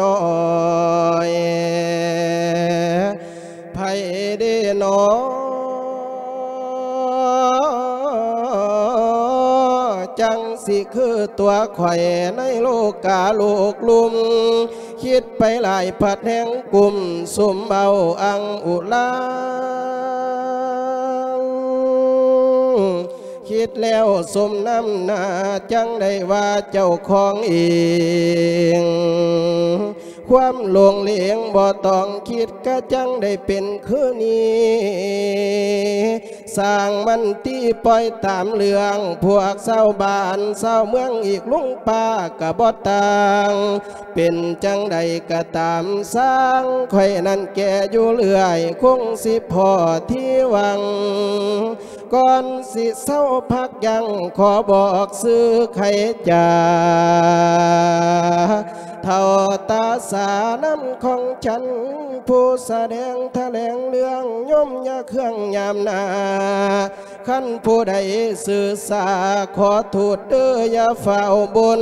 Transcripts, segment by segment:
ນ້ອຍ ໃຜເດນໍ ຈັ່ງຊິຄືຕົວຂ້ອຍໃນໂລກາລູກລຸ່ມ ຄິດໄປຫຼາຍພັດແຮງກຸ້ມ ສຸມເວົ້າອັ່ງອຸລາ ຄິດແລ້ວສົມນ້ຳໜ້າ ຈັ່ງໄດ້ວ່າເຈົ້າຂອງເອງ ຄວາມຫຼົງເຫຼງບໍ່ຕ້ອງຄິດ ກະຈັ່ງໄດ້ເປັນຄືນີ້ ຊ່າງມັນຕິ ປ່ອຍຕາມເລື່ອງ ພວກຊາວບ້ານຊາວເມືອງ ອີກລຸງປ້າກະບໍ່ຕ່າງ ເປັນຈັ່ງໃດກະຕາມຊ່າງ ຂ້ອຍນັ້ນແກ່ຢູ່ເລື້ອຍ ຄົງຊິພໍ້ທີ່ຫວັງ ກ່ອນຊິເຊົາພັກຢັ້ງ ຂໍບອກຊື່ໄຂຈາ ເຖົ້າຕາສານຳຂອງສັນ ຜູ້ສະແດງຖະແຫຼງເລື່ອງ ໂຍມຢ່າເຄືອງຍາມໜ້າ ຄັນຜູ້ໃດຊື່ສາ ຂໍໂທດເດີ້ຢ່າຟ້າວບົນ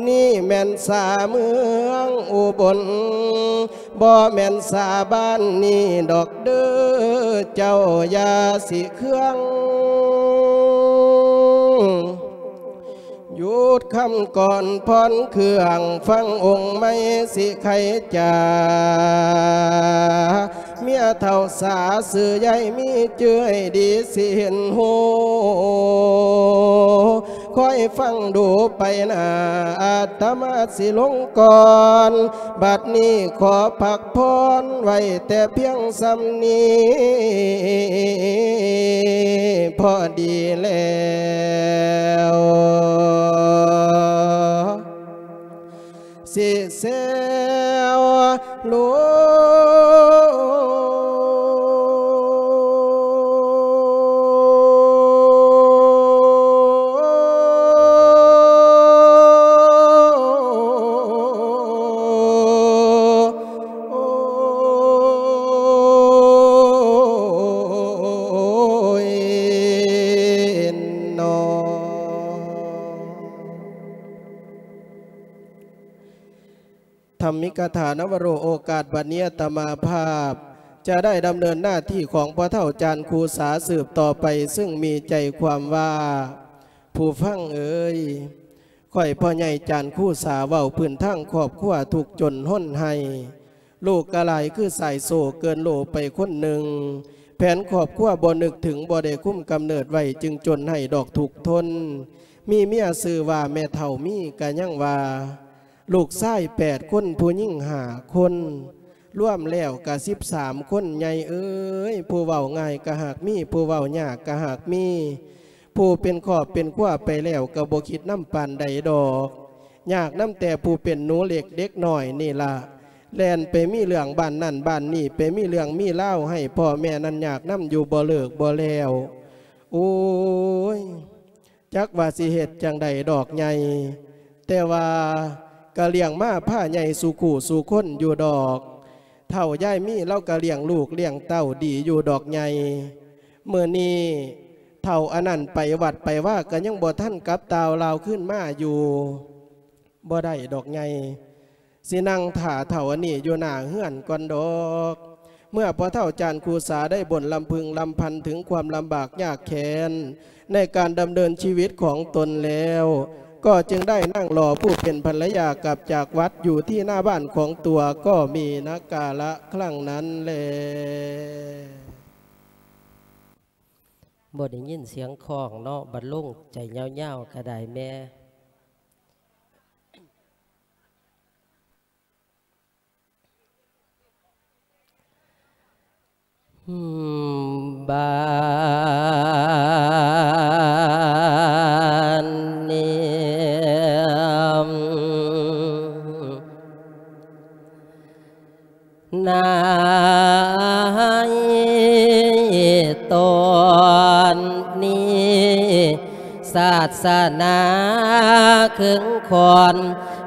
ນີ້ແມ່ນສາເມືອງອຸບົນ ບໍ່ແມ່ນສາບ້ານນີ້ດອກເດີ້ ເຈົ້າຢ່າຊິເຄືອງ ຢຸດຄຳກ່ອນຜ່ອນເຄື່ອງ ຟັງອົງໃໝ່ຊິໄຂຈາ ເມຍເຖົ້າສາຊື່ໃຫຍ່ມີຈື່ໃຫ້ດີ ຊິເຫັນຮູ້ ຄອຍຟັງດູໄປໜ້າ ອາດຕະມາຊິລົງກ່ອນ ບັດນີ້ຂໍພັກຜ່ອນໄວ້ແຕ່ພຽງສ່ຳນີ້ພໍດີແລ້ວ ຊິແຊວໂລ ທຳມິກະຖາ ນະວະໂຣ ໂອກາດບັດນີ້ອາດຕະມາພາບ ຈະໄດ້ດຳເນີນໜ້າທີ່ຂອງພໍ່ເຖົ້າຈານຄູສາສືບຕໍ່ໄປ ຊຶ່ງມີໃຈຄວາມວ່າ ຜູ້ຟັງເອີຍ, ຂ້ອຍພໍ່ໃຫຍ່ຈານຄູສາເວົ້າພື້ນທາງຄອບຄົວທຸກຈົນຮົນໄຫ້, ລູກກະຫຼາຍຄືສາຍໂສ້ເກີນໂລໄປຄົນໜຶ່ງ, ແຜນຄອບຄົວບໍ່ນຶກເຖິງ ບໍ່ໄດ້ຄຸມກຳເນີດໄວ້ ຈຶ່ງຈົນໄຫ້ດອກທຸກທົນ, ມີເມຍຊື່ວ່າແມ່ເຖົ້າມີກະຍັງວ່າ ລູກຊາຍແປດຄົນ ຜູ້ຍິງຫ້າຄົນ ລວມແລ້ວກະສິບສາມຄົນ. ໃຫຍ່ເອີຍ, ຜູ້ເວົ້າງ່າຍກະຫາກມີ, ຜູ້ເວົ້າຍາກກະຫາກມີ, ຜູ້ເປັນຄອບເປັນຄົວໄປແລ້ວກະບໍ່ຄິດນຳປານໃດດອກ. ຍາກນຳແຕ່ຜູ້ເປັນໜູເລັກເດັກນ້ອຍນີ້ລະ, ແລ່ນໄປມີເລື່ອງບ້ານນັ້ນບ້ານນີ້, ໄປມີເລື່ອງມີລາວໃຫ້ພໍ່ແມ່ນັ້ນຍາກນຳຢູ່ບໍ່ເລີກບໍ່ແລ້ວ. ໂອ້ຍ! ຈັກວ່າຊິເຮັດຈັ່ງໃດດອກໃຫຍ່, ແຕ່ວ່າກະລ້ຽງມາພາໃຫຍ່ສູ່ຄູ່ສູ່ຄົນຢູ່ດອກ. ເຖົ້າຍາຍມີລາວກະລ້ຽງລູກລ້ຽງເຕົ້າດີຢູ່ດອກໃຫຍ່. ມື້ນີ້ເຖົ້າອັນນັ້ນໄປວັດໄປວາກະຍັງບໍ່ທັນກັບຕ່າວລາວຄືນມາຢູ່. ບໍ່ໄດ້ດອກໃຫຍ່, ຊິນັ່ງຖ້າເຖົ້າອັນນີ້ຢູ່ໜ້າເຮືອນກ່ອນດອກ. ເມື່ອພໍ່ເຖົ້າຈານຄູສາໄດ້ບົ່ນລຳພຶງລຳພັນເຖິງຄວາມລຳບາກຍາກແຄ້ນໃນການດຳເນີນຊີວິດຂອງຕົນແລ້ວ, ກໍຈຶ່ງໄດ້ນັ່ງລໍຜູ້ເປັນພັນລະຍາກັບຈາກວັດຢູ່ທີ່ໜ້າບ້ານຂອງຕົວກໍມີນະກາລະຄັ້ງນັ້ນແລ. ບໍ່ໄດ້ຍິນສຽງຄ້ອງເນາະ, ບັດລົງໃຈຍາວໆກະໄດ້ແມ່. ບາດນີ້ ໃນຕອນນີ້ ສາສະໜາເຄິ່ງຂ້ອນ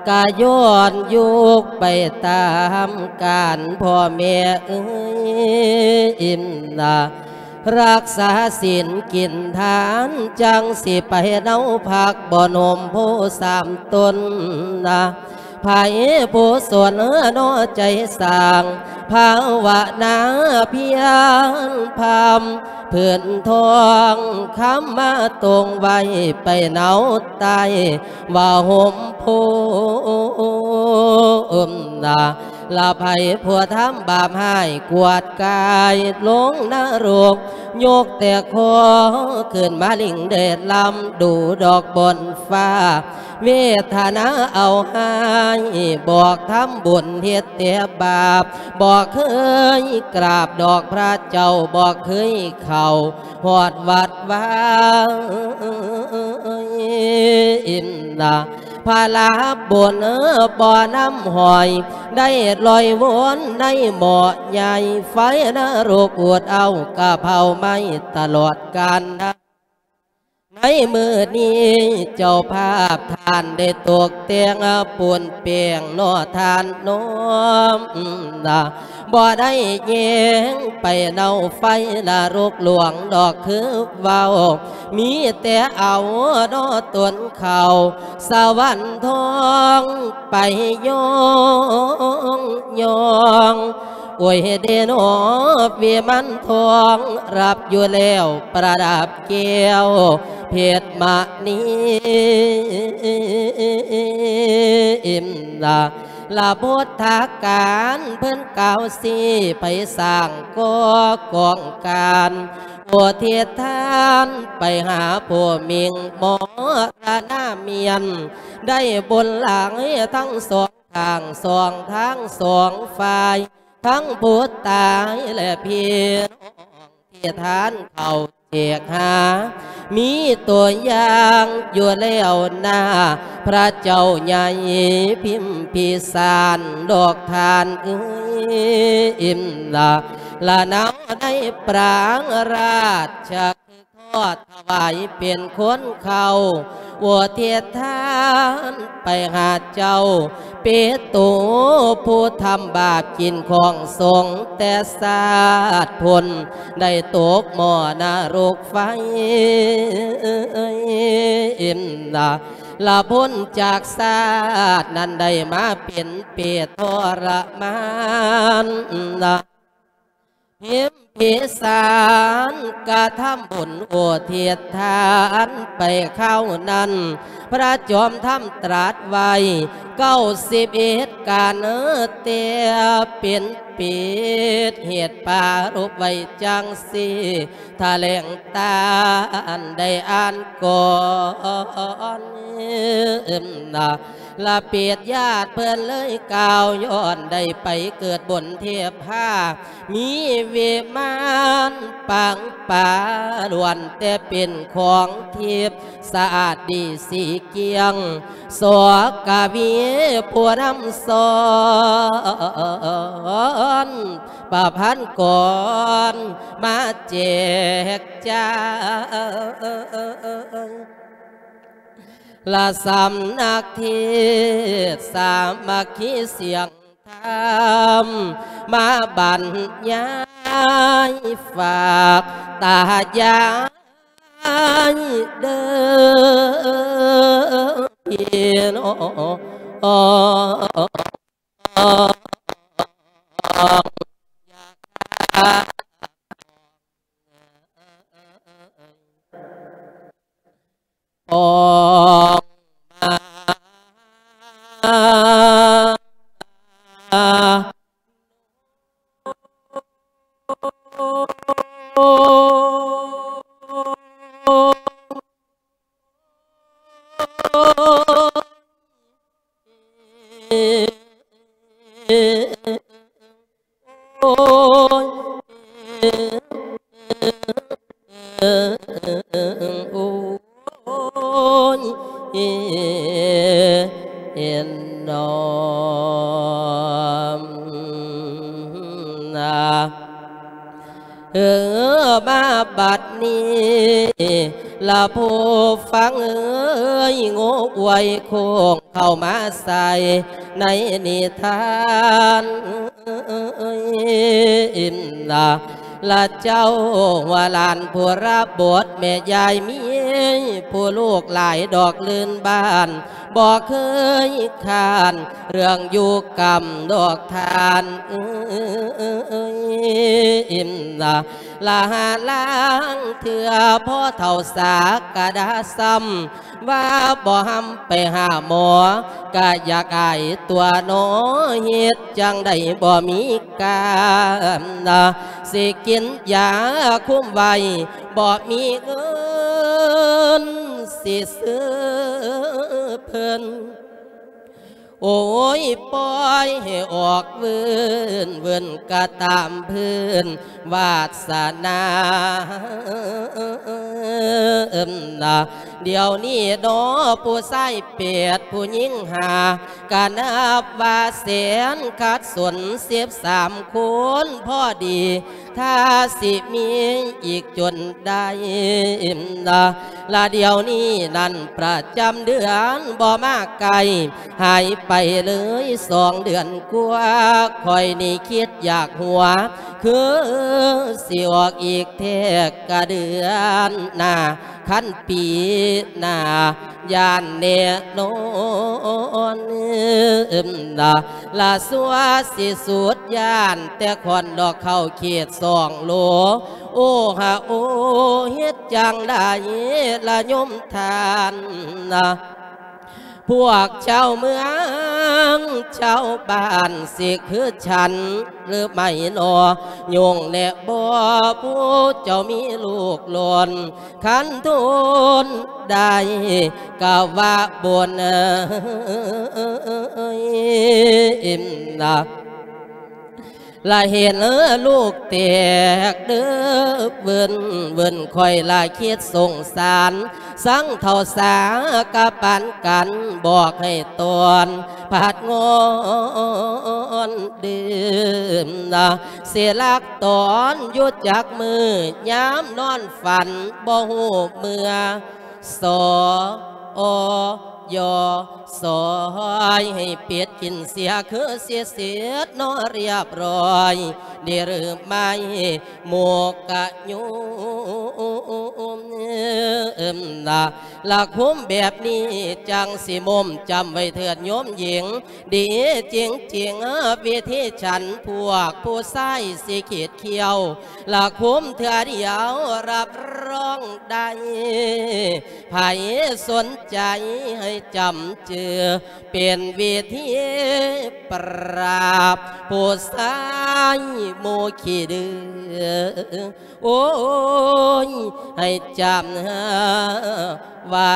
ກະຍ້ອນຍຸກໄປຕາມການ ພໍ່ແມ່ເອີຍ ນະ ລັກສາສິນກິນທານ ຈັ່ງຊິໄປເນົາພັກບ່ອນຮົ່ມໂພສາມຕົ້ນນະ. ໃຜຜູ້ສົນເນາະໃຈສ້າງ ພາວະນາພຽນພຳ ພື້ນທອງຄຳມາຕົງໄວ້ ໄປເນົາໃຕ້ວ່າຮົ່ມໂພມນາ ລະໃຜຜູ້ທຳບາບຮ້າຍ ກວາດກາຍລົງນະລົກ ຍົກແຕ່ຄໍຂຶ້ນມາລິງແດດລຳ ດູດອກບ່ອນຟ້າ ເວທະນາເອົາຮ້າຍ ບອກທຳບຸນເຮັດແຕ່ບາບ ບໍ່ເຄີຍກາບດອກພະເຈົ້າ ບໍ່ເຄີຍເຂົ້າຮອດວັດວານາ ພະລາບຸນບໍ່ນຳຫ້ອຍ ໄດ້ລອຍວົນໃນໝໍ້ໃຫຍ່ ໄຟນະລົກອູດເອົາກະເຜົາໄໝ້ຕະຫຼອດການນານ ໃນມື້ນີ້ເຈົ້າພາບທ່ານໄດ້ຕົກແຕ່ງປຸນແປງເນາະທ່ານນ້ອມນາ ບໍ່ໄດ້ແຍງໄປເນົາໄຟນະລົກຫຼວງດອກຄືເວົ້າ ມີແຕ່ເອົາເນາະຕົນເຂົ້າສະຫວັນທອງໄປຍ້ອງ ໂອ້ຍເດເນາະ ວິມານທອງຮັບຢູ່ແລ້ວ ປະດັບແກ້ວເພັດມະນີ ລະພຸດທະການເພິ່ນກ່າວຊີ້ ໄປສ້າງກໍ່ກອງການ ອຸທິດທານໄປຫາຜູ້ມິ່ງມໍລະນະມຽນ ໄດ້ບຸນຫຼາຍທັງສອງ ທາງສອງ ທາງສອງຝ່າຍ ທັງຜູ້ຕາຍ ແລະ ພີ່ນ້ອງທີ່ທານເຂົ້າແຈກຫາ ມີຕົວຢ່າງຢູ່ແລ້ວນາ ພະເຈົ້າໃຫຍ່ພິມພິສານດອກທ່ານເອີຍ ລະນາວໃນປາງລາຊະ ຂໍຖວາຍເປັນຄົນເຂົ້າ ອຸທິດທານໄປຫາເຈົ້າ ເປໂຕຜູ້ທຳບາບກິນຂອງສົງ ແຕ່ຊາດພຸ້ນໄດ້ຕົກໝໍ້ນະລົກໄຟ ລະພົ້ນຈາກຊາດນັ້ນໄດ້ມາເປັນເປດທໍລະມານ ພິມພິສານກະທຳບຸນອຸທິດທານໄປຄາວນັ້ນ ພະຈອມທຳຕລັດໄວ້ເກົ້າສິບເອັດການ ແຕ່ເປັນເປດເຫດປາລົບໄວ້ຈັ່ງຊີ້ ຖະແຫຼງຕານໄດ້ອ່ານກ່ອນ ລະເປດຍາດເພິ່ນເລີຍກ່າວ ຍ້ອນໄດ້ໄປເກີດບົນເທບພາ ມີວິມານປາງປາ ລ້ວນແຕ່ເປັນຂອງທິບ ສະອາດດີສີກ່ຽງ ສອກະວີຜູ້ນຳສອນ ປະພັນກອນມາແຈກຈາຍ ລະສຳນັກເທດສາມັກຄີສຽງທຳ ມາບັນຍາຍຝາກຕາຍາຍເດີພີ່ນ້ອງ ອອກມາ ໂອ້ຍ ໂອ້ຍ ເອັນນອມນາ ເອີ ມາບັດນີ້ລະຜູ້ຟັງເອີຍ ໂງ່ອວຍໂຄ້ງເຂົ້າມາໃສ່ໃນນິທານ ລະເຈົ້າຫົວຫຼານຜູ້ລະບົດ ແມ່ຍາຍມີຜູ້ລູກຫຼາຍດອກລື່ນບ້ານ ບໍ່ເຄີຍຄ້ານເລື່ອງຢູ່ກຳດອກທ່ານເອີຍນະ ລະຫາລາງເທື່ອພໍ່ເຖົ້າສາກະດາຊ້ຳ ວ່າບໍ່ຮຳໄປຫາໝໍ ກະຢາກອາຍຕົວໜໍ ເຮັດຈັ່ງໃດບໍ່ມີການ ຊິກິນຢາຄຸມໄວ້ ບໍ່ມີເງິນຊິຊື້ເພິ່ນ ໂອ້ຍ ປ່ອຍໃຫ້ອອກວືນວືນ ກະຕາມພື້ນວາດສະໜາ ດຽວນີ້ໜໍ ຜູ້ຊາຍແປດ ຜູ້ຍິງຫ້າ ກະນັບວ່າແສນຂັດສົນ ສິບສາມຄົນພໍດີ ຖ້າຊິມີອີກຈົນໄດ້ ລະດຽວນີ້ນັ້ນປະຈຳເດືອນບໍ່ມາໃກ້ ຫາຍໄປເລີຍສອງເດືອນກວ່າ ຂ້ອຍນີ້ຄິດຢາກຫົວ ຄືຊິອອກອີກແທ້ກະເດືອນໜ້າ ຄັນປີໜ້າ ຢ້ານແນ່ນອນນະ ລະຊົ່ວຊິສຸດຢ້ານ ແຕ່ຄວັນດອກເຂົ້າເຂດສອງໂລ ໂອ້ຫາໂອ້ ເຮັດຈັ່ງໃດລະໂຍມທ່ານນະ ພວກຊາວເມືອງຊາວບ້ານຊິຄືສັນຫຼືໄໝ່ນໍ ໂຍງແນະບໍ່ ຜູ້ເຈົ້າມີລູກຫຼອນ ຄັນທົນໄດ້ກະວ່າບຸນນະ ລະເຫັນລູກແຕກເດີເວີນເວີນ ຂ້ອຍລະຄິດສົງສານ ສັງເຖົ້າສາກະປານກັນ ບອກໃຫ້ຕອນ ພັດງອນດື່ມນະ ຊິລັກຕອນຢູ່ຈັກມື້ ຍາມນອນຝັນບໍ່ຮູ້ເມື່ອ ສ ອ ຢ ສອຍ ໃຫ້ເປັດກິນເສຍ ຄືຊິເສັດເນາະຮຽບຮ້ອຍ ດີຫຼືໄໝ່ ໝູກກະໂຍມນະ ລະຄຸມແບບນີ້ ຈັ່ງຊິມົມ ຈຳໄວ້ເທີດໂຍມຍິງ ດີຈິງໆ ວິທີສັນ ພວກຜູ້ຊາຍຊິຂີດຂຽວ ລະຄຸມເທື່ອດຽວ ຮັບຮອງໄດ້ ໃຜສົນໃຈໃຫ້ຈຳຈື່ ເປັນວິທີປາບຜູ້ຊາຍໝູ່ຂີ້ດື້ ໂອ້ຍ ໃຫ້ຈຳໄວ້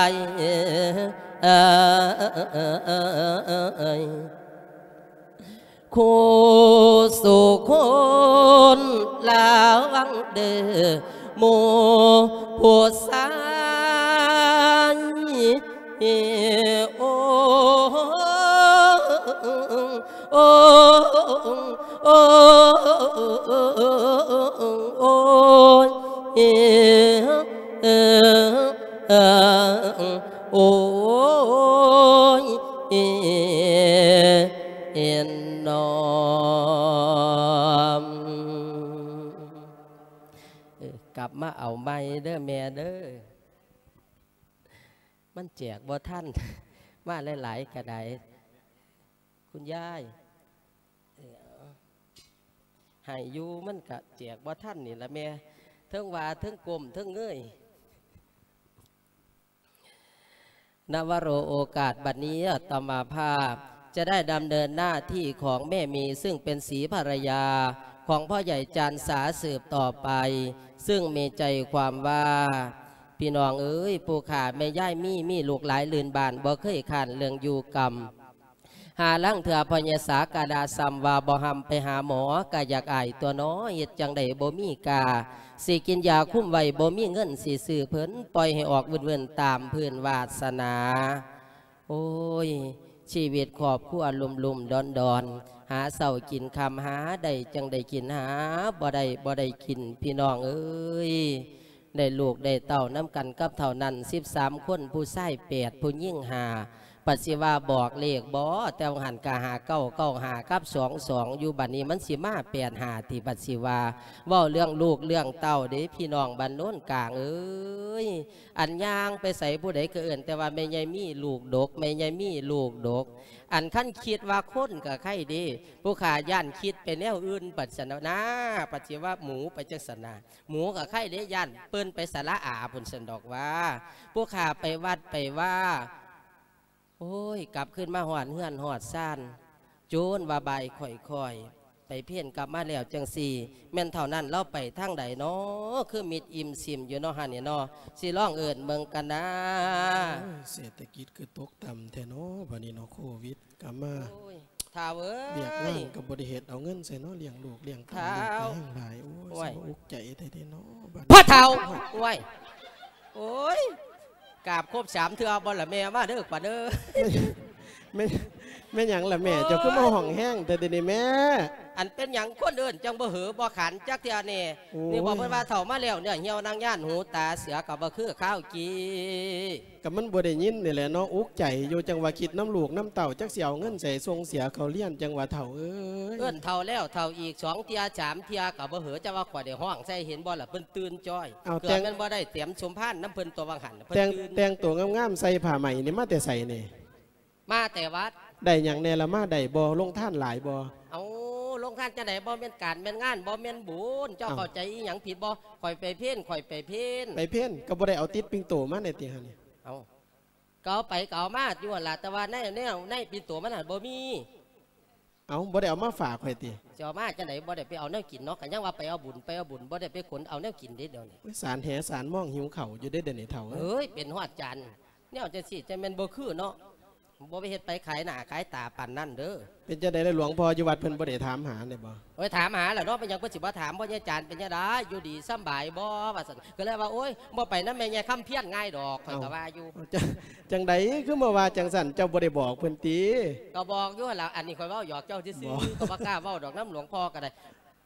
ຄູ່ສູ່ຄົນລະວັງເດີ ໝູ່ຜູ້ຊາຍ ໂອ້ ໂອ້ ໂອ້ ໂອ້ຍ ເອີ ເອີ ໂອ້ຍ ເອີ ເນາະ ເອີ ກັບມາເອົາໃໝ່ເດີແມ່ເດີ ມັນແຈກບໍ່ທັນ ມາຫຼາຍໆກະໄດ້ ຄຸນຍາຍ ເອີ ໃຫ້ຢູ່ ມັນກະແຈກບໍ່ທັນນີ້ລະແມ່ ເທິງວ່າເທິງກົ້ມເທິງເງີຍ. ນະວະໂລ ໂອກາດບັດນີ້ ອາດຕະມາພາບຈະໄດ້ດຳເນີນໜ້າທີ່ຂອງແມ່ໝີ ຊຶ່ງເປັນສີພະລະຍາຂອງພໍ່ໃຫຍ່ຈານສາສືບຕໍ່ໄປ ຊຶ່ງມີໃຈຄວາມວ່າ ພີ່ນ້ອງເອີຍ ຜູ້ຂ້າແມ່ຍາຍມີ ມີລູກຫຼາຍລື່ນບ້ານ ບໍ່ເຄີຍຄ້ານເລື່ອງຢູ່ກຳ ຫາລາງເທື່ອພໍ່ໃຫຍ່ສາກະດາຊ້ຳວ່າບໍ່ຮຳໄປຫາໝໍ ກະຢາກອາຍຕົວໜໍ ເຮັດຈັ່ງໃດບໍ່ມີກາ ຊິກິນຢາຄຸມໄວ້ ບໍ່ມີເງິນຊິຊື້ເພິ່ນ ປ່ອຍໃຫ້ອອກວືນໆຕາມພື້ນວາດສະໜາ. ໂອ້ຍ ຊີວິດຄອບຄົວລຸ່ມໆດອນໆ ຫາເຊົ້າກິນຄ່ຳ ຫາໄດ້ຈັ່ງໄດ້ກິນ ຫາບໍ່ໄດ້ບໍ່ໄດ້ກິນ ພີ່ນ້ອງເອີຍ ໄດ້ລູກໄດ້ເຕົ້ານຳກັນກັບເຖົ້ານັ້ນສິບສາມຄົນ ຜູ້ຊາຍແປດ ຜູ້ຍິງຫ້າ ບັດຊິວ່າບອກເລກບໍ່? ແຕ່ວ່າຫັ້ນກະຫ້າເກົ້າເກົ້າຫ້າກັບສອງສອງຢູ່ ບັດນີ້ມັນຊິມາແປດຫ້າຕິ? ບັດຊິວ່າເວົ້າເລື່ອງລູກເລື່ອງເຕົ້າເດ້ ພີ່ນ້ອງບ້ານໂນນກາງເອີຍ ອັນຍ່າງໄປໃສຜູ້ໃດກໍເອີ້ນແຕ່ວ່າແມ່ໃຫຍ່ມີລູກດົກ ແມ່ໃຫຍ່ມີລູກດົກ. ອັນຄັນຄິດວ່າຄົນກໍໄຄເດ້ ຜູ້ຂ້າຢ້ານຄິດໄປແນວອື່ນບັດຊັ້ນນາ ບັດຊິວ່າໝູໄປຈັ່ງຊັ້ນນາ. ໝູກໍໄຄເດ້ ຢ້ານເພິ່ນໄປສະຫຼະອາພຸ້ນຊັ້ນດອກວ່າ ຜູ້ຂ້າໄປວັດໄປວາ ໂອ້ຍ ກັບຄືນມາຮອດເຮືອນຮອດຊານ ໂຈນວ່າບ່າຍຄ່ອຍໆ ໄປເພນກັບມາແລ້ວຈັ່ງຊີ້ ແມ່ນເທົ່ານັ້ນລາວໄປທາງໃດນໍ ຄືມິດອີ່ມຊິມຢູ່ນໍຫັ້ນນີ້ນໍ ຊິລອງເອີ້ນເບິ່ງກັນນາ. ໂອ້ຍ ເສດຖະກິດຄືຕົກຕ່ຳແທ້ນໍ ບັດນີ້ນໍ ໂຄວິດ ກະມາ ໂອ້ຍ ທ້າວເອີຍ ວຽກງານກໍບໍ່ໄດ້ເຮັດ ເອົາເງິນໃສເນາະ ລ້ຽງລູກລ້ຽງເຕົ້າ ລູກກໍແຮງຫຼາຍ ໂອ້ຍ ໂອ້ຍ ຊິບໍ່ອຸກໃຈແທ້ເດເນາະ ບັດ ພໍ່ເຖົ້າ ໂອ້ຍ ໂອ້ຍ ກາບຄົບສາມເທື່ອບໍ່ລະແມ່ ມາເດີຂວັນເອີຍ. ແມ່ນ ແມ່ນຫຍັງລະແມ່ ໂອ້ຍ ເຈົ້າຄືມາຮ້ອງແຮງແທ້ເດນີ້ແມ່? ອັນເປັນຫຍັງຄົນເອີ້ນຈັ່ງບໍ່ເຫີບໍ່ຂານຈັກເທື່ອນີ້? ໂອ້ຍ ນີ້ບອກເພິ່ນວ່າເຖົ້າມາແລ້ວ ເນື້ອຫ່ຽວໜັງຍານ ຫູຕາເສືອກໍບໍ່ຄືຄາວກີ້. ກໍມັນບໍ່ໄດ້ຍິນນີ້ແຫຼະເນາະ ອຸກໃຈຢູ່ ຈັ່ງວ່າຄິດນຳລູກນຳເຕົ້າ ຈັກຊິເອົາເງິນໃສສົ່ງເສຍເຂົາຮຽນ ຈັ່ງວ່າເຖົ້າເອີຍ. ເອີ້ນເຖົ້າແລ້ວເຖົ້າອີກ ສອງເທື່ອສາມເທື່ອກໍບໍ່ເຫີ ຈະວ່າຂ້ອຍໄດ້ຮ້ອງໃສ່ ເຫັນບໍ່ລະ ເພິ່ນຕື່ນຈ້ອຍ. ເອົາ ເກືອບແຕ່ງ ແມ່ນບໍ່ໄຕ່ງເຕັມສົມພານນຳເພິ່ນຕົວຫວ່າງຫັ້ນ ເພິ່ນ ແຕ່ງ ຕື່ນ ແຕ່ງໂຕງາມໆ ໃສ່ຜ້າໄໝນີ້ມາແຕ່ໃສນີ້? ມາແຕ່ວັດ. ໄດ້ຫຍັງແດ່ລະ ມາໄດ້ບໍ່? ລົງທານຫຼາຍບໍ່? ເອົາ ລົງທານຈັ່ງໃດ ບໍ່ແມ່ນການແມ່ນງານ ບໍ່ແມ່ນບຸນ ເຈົ້າ ເອົ້າ ເຂົ້າໃຈອີ່ຫຍັງຜິດບໍ່? ຂ້ອຍໄປເພນ ຂ້ອຍໄປເພນ. ໄປເພນ ກໍບໍ່ໄດ້ເອົາຕິດປິ່ນໂຕມາແດ່ຕິຫັ້ນນີ້? ເອົາ ກໍເອົາໄປກໍເອົາມາຢູ່ຫັ້ນລະ ແຕ່ວ່າໃນ ແນວໃນປິ່ນໂຕມັນຫັ້ນບໍ່ມີ. ເອົາ ບໍ່ໄດ້ເອົາມາຝາກຂ້ອຍຕິ? ຊິເອົາມາຈັ່ງໃດ ບໍ່ໄດ້ໄປເອົາແນວກິນເນາະ ກໍຍັງວ່າໄປເອົາບຸນ ໄປເອົາບຸນ ບໍ່ໄດ້ໄປຂົນເອົາແນວກິນເດ້ດຽວນີ້. ໂອ້ຍ ສານແຫສານມອງຫິວເຂົ້າຢູ່ເດ້ດຽວນີ້ເຖົ້າເອີຍ. ເອີຍ ເປັນຮອດຈານ ແນວຈັ່ງຊີ້ ຈັ່ງແມ່ນບໍ່ຄືເນາະ ບໍ່ໄປເຮັດໄປຂາຍໜ້າຂາຍຕາປານນັ້ນເດີ. ເປັນຈັ່ງໃດລະ ຫຼວງພໍ່ຢູ່ວັດເພິ່ນບໍ່ໄດ້ຖາມຫາແດ່ບໍ່? ໂອ້ຍ ຖາມຫາແລ້ວເນາະ ເປັນຫຍັງເພິ່ນຊິບໍ່ຖາມ? ພໍ່ໃຫຍ່ຈານເປັນຈັ່ງໃດ ຢູ່ດີສຳບາຍບໍ່ ວ່າຊັ້ນ ກໍເລີຍວ່າ ໂອ້ຍ ບໍ່ໄປນຳແມ່ໃຫຍ່ຄຳພຽນງ່າຍດອກ ຂ້ອຍກໍວ່າຢູ່. ເອົ້າ ຈັ່ງ ຈັ່ງໃດຄືມາວ່າຈັ່ງຊັ້ນ ເຈົ້າບໍ່ໄດ້ບອກເພິ່ນຕິ? ກໍບອກຢູ່ຫັ້ນລະ ອັນນີ້ຂ້ອຍເວົ້າຫຍອກເຈົ້າຊື່ໆ ກໍບໍ່ກ້າເວົ້າດອກນຳຫຼວງພໍ່ກໍໄດ້.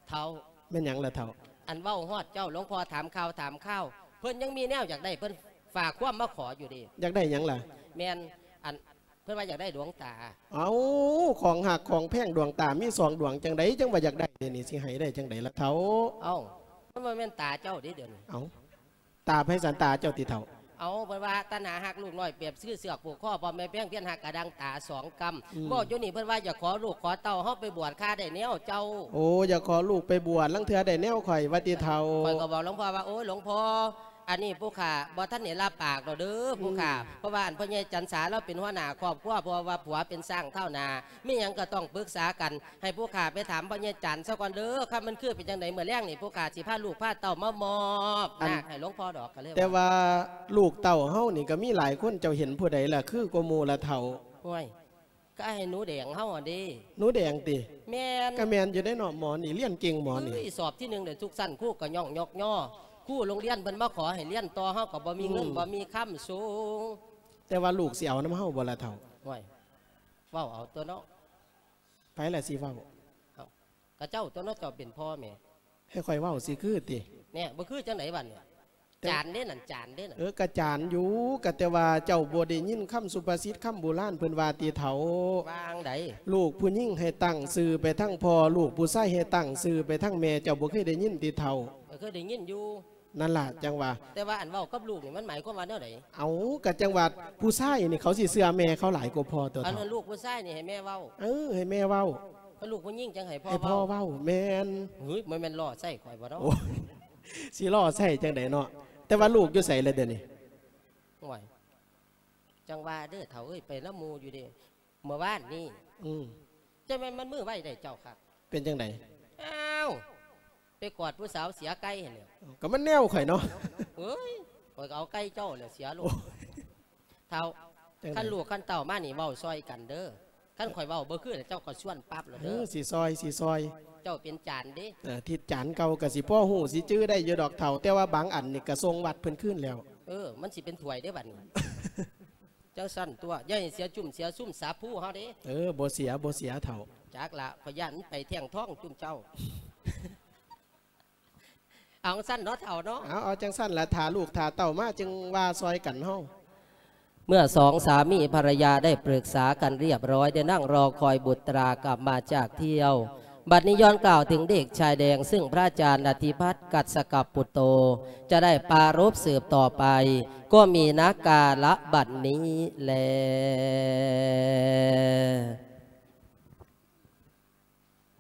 ເຖົ້າ ແມ່ນຫຍັງລະເຖົ້າ? ອັນເວົ້າຮອດເຈົ້າ ຫຼວງພໍ່ຖາມຂ່າວຖາມຄາວ ເພິ່ນຍັງມີແນວຢາກໄດ້ ເພິ່ນຝາກຄວາມມາຂໍຢູ່ເດ້. ຢາກໄດ້ຫຍັງລະ? ແມ່ນ ອັນ ເພິ່ນວ່າຢາກໄດ້ດວງຕາ. ເອົ້າ ຂອງຮັກຂອງແພງດວງຕາມີສອງດວງ ຈັ່ງໃດຈັ່ງວ່າຢາກໄດ້ ດຽວນີ້ຊິໃຫ້ໄດ້ຈັ່ງໃດລະເຖົ້າ? ເອົ້າ ມັນບໍ່ແມ່ນຕາເຈົ້າເດ້ດຽວນີ້. ເອົ້າ ຕາໃຜຊັ້ນ ຕາເຈົ້າຕິເຖົ້າ? ເອົາ ເພິ່ນວ່າຕັນຫາຮັກລູກນ້ອຍ ປຽບຄືເຊືອກຜູກຄໍ ພໍ່ແມ່ແພງພຽນຮັກກະດັ່ງຕາສອງກຳ. ອືມ ບອກຢູ່ນີ້ເພິ່ນວ່າຢາກຂໍລູກຂໍເຕົ້າເຮົາໄປບວດຄາໄດ້ແນວເຈົ້າ. ໂອ້ ຢາກຂໍລູກໄປບວດ ລາງເທື່ອໄດ້ແນວຂ້ອຍວ່າຕິເຖົ້າ? ຂ້ອຍກໍບອກຫຼວງພໍ່ວ່າ ໂອ້ຍ ຫຼວງພໍ່ ອັນນີ້ຜູ້ຂ້າບໍ່ທັນໄດ້ລາບປາກດອກເດີຜູ້ຂ້າ. ອືມ ເພາະວ່າອັນພໍ່ໃຫຍ່ຈັນສາລາວເປັນຫົວໜ້າຄອບຄົວ ເພາະວ່າຜົວເປັນຊ້າງທ້າວໜ້າ ມີຫຍັງກໍຕ້ອງປຶກສາກັນ. ໃຫ້ຜູ້ຂ້າໄປຖາມພໍ່ໃຫຍ່ຈັນຊະກ່ອນເດີ ຄັນມັນຄືເປັນຈັ່ງໃດ ມື້ແລງນີ້ຜູ້ຂ້າຊິພາລູກພາເຕົ້າມາມອບນາກໃຫ້ຫຼວງພໍ່ດອກ ກໍເລີຍວ່າ. ແຕ່ວ່າລູກເຕົ້າເຮົານີ້ກໍມີຫຼາຍຄົນ ເຈົ້າເຫັນຜູ້ໃດລະຄືກວ່າໝູ່ລະເຖົ້າ? ໂອ້ຍ ກໍອ້າຍໜູແດງເຮົາຫັ້ນເດ້. ໜູແດງຕິ? ແມ່ນ. ກໍແມ່ນຢູ່ເດ້ເນາະ ໝໍນີ້ຮຽນເກັ່ງໝໍນີ້. ເອີຍ ສອບທີໜຶ່ງໄດ້ທຸກຊັ້ນ ຄູກໍຍ້ອງຍົກຍໍ ຄູໂຮງຮຽນເພິ່ນມາຂໍໃຫ້ຮຽນຕໍ່ ເຮົາກໍບໍ່ມີເງິນ ອືມ ບໍ່ມີຄຳສົ່ງ. ແຕ່ວ່າລູກຊິເອົານຳເຮົາບໍ່ລະເຖົ້າ? ໂອ້ຍ ເວົ້າເອົາຕົວເນາະ. ໃຜລະຊິເວົ້າ? ເອົ້າ ກະເຈົ້າຕົວເນາະ ເຈົ້າເປັນພໍ່ແມ່. ໃຫ້ຂ້ອຍເວົ້າຊິຄືຕິ? ແນ່ ບໍ່ຄືຈັ່ງໃດບັດນີ້? ແຕ່ ຈານເດ້ນັ້ນ ຈານເດ້ນັ້ນ. ເອີ ກະຈານຢູ່ ກະແຕ່ວ່າເຈົ້າບໍ່ໄດ້ຍິນຄຳສຸພາສິດຄຳໂບລານເພິ່ນວ່າຕິເຖົ້າ? ວ່າຈັ່ງໃດ? ລູກຜູ້ຍິງໃຫ້ຕັ້ງຊື່ໄປທາງພໍ່ ລູກຜູ້ຊາຍໃຫ້ຕັ້ງຊື່ໄປທາງແມ່ ເຈົ້າບໍ່ເຄີຍໄດ້ຍິນຕິເຖົ້າ? ເອີ ເຄີຍໄດ້ຍິນຢູ່. ນັ້ນລະ ຈັ່ງວ່າ. ແຕ່ວ່າອັນເວົ້າກັບລູກນີ້ ມັນໝາຍຄວາມວ່າແນວໃດ? ເອົ້າ ກະຈັ່ງວ່າຜູ້ຊາຍນີ້ເຂົາຊິເຊື່ອແມ່ເຂົາຫຼາຍກວ່າພໍ່ຕົວະ ອັນນັ້ນລູກຜູ້ຊາຍນີ້ໃຫ້ແມ່ເວົ້າ. ເອີ ໃຫ້ແມ່ເວົ້າ. ຄັນລູກຜູ້ຍິງຈັ່ງໃຫ້ພໍ່ ໃຫ້ພໍ່ເວົ້າ. ເວົ້າ ແມ່ນ. ຫືຍ ບໍ່ແມ່ນລໍ້ໃສ່ຂ້ອຍບໍ່ເນາະ? ໂອ້ ຊິລໍ້ໃສ່ຈັ່ງໃດເນາະ? ແຕ່ວ່າລູກຢູ່ໃສລະດຽວນີ້? ໂອ້ຍ ຈັ່ງວ່າເດີເຖົ້າເອີຍ ໄປນຳໝູ່ຢູ່ເດ້. ເມື່ອວານນີ້ ອືມ ຈັ່ງແມ່ນມັນມືໄວໄດ້ເຈົ້າຄັກ. ເປັນຈັ່ງໃດ? ອ້າວ ໄປກອດຜູ້ສາວເສຍໄກ່ຫັ້ນແຫຼ້ວ. ກໍມັນແນວຂ້ອຍເນາະ. ເອີຍ ຂ້ອຍກໍເອົາໄກ່ເຈົ້າແຫຼະເສຍໂລດ. ໂອ້ຍ ເຖົ້າ ຈັ່ງໃດ? ຄັນລູກຄັນເຕົ້າມານີ້ເວົ້າຊ່ອຍກັນເດີ. ຄັນຂ້ອຍເວົ້າບໍ່ຄື ເຈົ້າກໍຊວນປັບໂລດເດີ. ເອີ ຊິຊ່ອຍ ຊິຊ່ອຍ. ເຈົ້າເປັນຈານເດ້. ເອີ ທິດຈານເກົ່າກໍຊິພໍຮູ້ ຊິຈື່ໄດ້ຢູ່ດອກເຖົ້າ ແຕ່ວ່າບາງອັນນີ້ກໍສົ່ງວັດເພິ່ນຄືນແລ້ວ. ເອີ ມັນຊິເປັນຖ້ວຍເດ້ບັດນີ້. ຈັ່ງຊັ້ນຕົວະ ຢ່າໃຫ້ເສຍຈຸ້ມເສຍຊຸມສາພູເຮົາເດ້. ເອີ ບໍ່ເສຍ ບໍ່ເສຍເຖົ້າ. ຈັກລະ ຂ້ອຍຢ້ານມັນໄປແທ່ງທອງຈຸ້ມເຈົ້າ. ເອົາຈັ່ງຊັ້ນເນາະເຖົ້າເນາະ. ເອົາ ເອົາຈັ່ງຊັ້ນລະ ຖ້າລູກຖ້າເຕົ້າມາຈຶ່ງວ່າຊ່ອຍກັນເຮົາ. เมื่อสองสามีภรรยาได้ปรึกษากันเรียบร้อย ได้นั่งรอคอยบุตรากลับมาจากเที่ยว บัดนี้ย้อนกล่าวถึงเด็กชายแดง ซึ่งพระอาจารย์อธิพัฒน์กัสสกปุตโต จะได้ปรารภสืบต่อไป ก็มีนักกาละบัดนี้แล